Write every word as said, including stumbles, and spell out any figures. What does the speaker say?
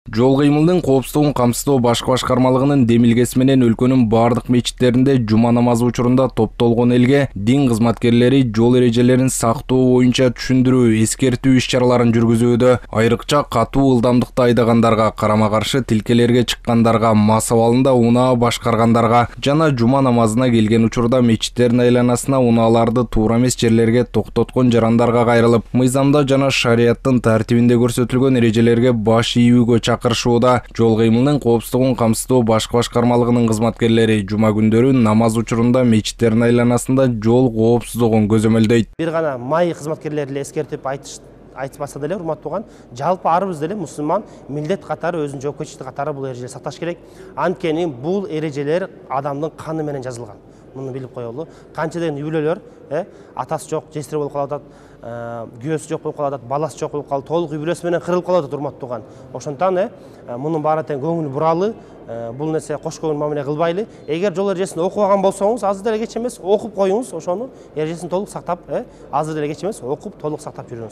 Жол кыймылынын коопсуздугун камсыздоо башкы башкармалыгынын демилгеси менен өлкөнүн бардык мечиттеринде жума намазы учурунда топтолгон элге дин кызматкерлери жол эрежелерин сактоо боюнча түшүндүрүү, эскертүү иш-чараларын жүргүзүүдө. Айрыкча катуу ылдамдыкта айдагандарга, карама-каршы тилкелерге чыккандарга, мас абалында унаа башкаргандарга жана жума намазына келген учурда мечиттердин айланасына унааларды туура эмес жерлерге токтоткон жарандарга кайрылып, мыйзамда жана шарияттын тартибинде көрсөтүлгөн эрежелерге баш ийүүгө чакырышууда. Жол кыймылынын коопсуздугун камсыздоо башкы башкармалыгынын кызматкерлери жума күндөрү намаз учурунда мечиттердин айланасында жол коопсуздугун көзөмөлдөйт. Бир гана май кызматкерлери эле эскертип айтыш айтпаса деле, урматтуу уган, жалпы арыбыз деле мусулман милдет катары өзүнүн жоопкерчилиги катары бул эрежелерди сакташ керек. Анткени бул эрежелер адамдын каны менен жазылган. Муну билип коелу. Канча деген үй-бүлөлөр, э, атасы жок, жесири болуп калып атат, күйөөсү жок болуп калып атат, баласы жок болуп калып, толук үй-бүлөсү менен кырылып калып атат, урматтуу уган. Ошондон э, мунун баары тең көңүл буралы, бул нерсе кош көңүл мамиле кылбайлы. Эгер жол эрежесин окубаган болсоңуз, азыр деле кеч эмес, окуп коюңуз, ошону эрежесин толук сактап, э, азыр деле кеч эмес, окуп толук сактап жүрүңүз.